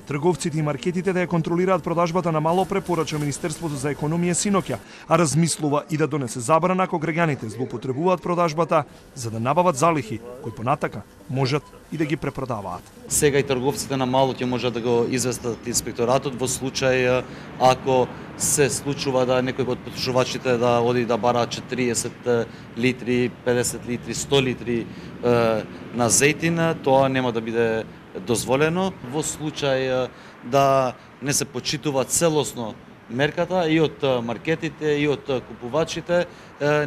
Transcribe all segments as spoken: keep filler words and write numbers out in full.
Трговците и маркетите да ја контролираат продажбата на мало препорача Министерството за економија синоќа, а размислува и да донесе забрана ако граѓаните злоупотребуваат продажбата за да набават залихи кои понатака можат и да ги препродаваат. Сега и трговците на мало ќе можат да го известат инспекторатот во случај ако се случува да некој од потрошувачите да оди да бара четириесет литри, педесет литри, сто литри е, на зејтин, тоа нема да биде дозволено во случај да не се почитува целосно мерката и од маркетите и од купувачите,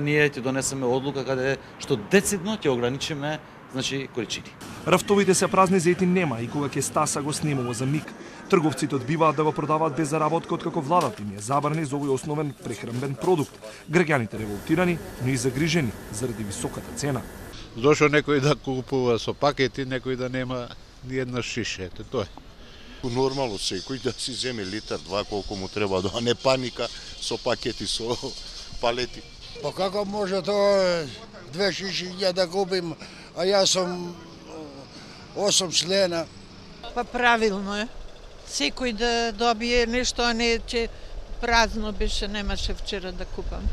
ние ќе донесеме одлука каде што децидно ќе ограничиме значи количини. Рафтовите се празни, зејтин нема и кога ќе стаса го снимува за миг. Трговците одбиваат да го продаваат без заработка откако владата им е забрани за овој основен прехранбен продукт. Граѓаните револтирани, но и загрижени заради високата цена. Дошо некој да купува со пакети, некој да нема ни една шиша, ето тоа е. Нормално секој да си земе литар, два, колку му треба, да не паника со пакети, со палети. Па како може тоа две шиши ја да купим, а јас сум осум члена? Па правилно е. Секој да добие нешто, а не че празно беше, немаше вчера да купам.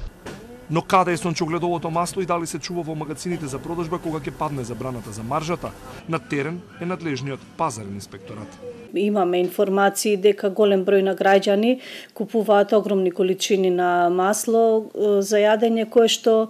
Но каде е сончогледовото масло и дали се чува во магазините за продажба кога ќе падне забраната за маржата? На терен е надлежниот пазарен инспекторат. Имаме информации дека голем број на граѓани купуваат огромни количини на масло за јадење кое што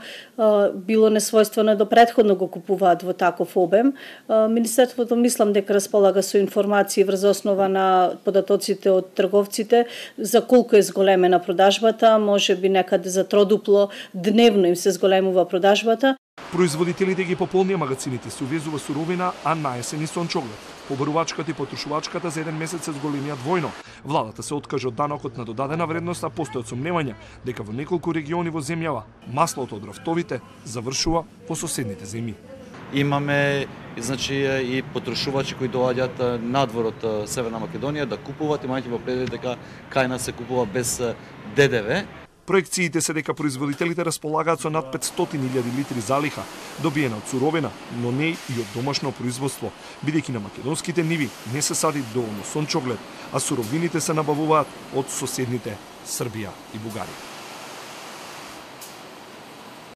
било несвојствено до претходно го купуваат во таков обем. Министерството мислам дека располага со информации врз основа на податоците од трговците за колку е зголемена продажбата, можеби некаде за тродупло дневно им се зголемува продажбата. Производителите ги пополнија магазините, се увезува суровина, а наесен и сончоглед. Побарувачката и потрошувачката за еден месец се зголемија двојно. Владата се откажа од данокот на додадена вредност, а постојат сомневања дека во неколку региони во земјава маслото од рафтовите завршува во соседните земји. Имаме значи и потрошувачи кои доаѓаат надвор од Северна Македонија да купуваат, имајќи во предвид дека кај нас се купува без Д Д В. Проекциите се дека производителите располагаат со над петстотини илјади литри залиха, добиена од суровина, но не и од домашно производство, бидејќи на македонските ниви не се сади доволно сончоглед, а суровините се набавуваат од соседните Србија и Бугарија.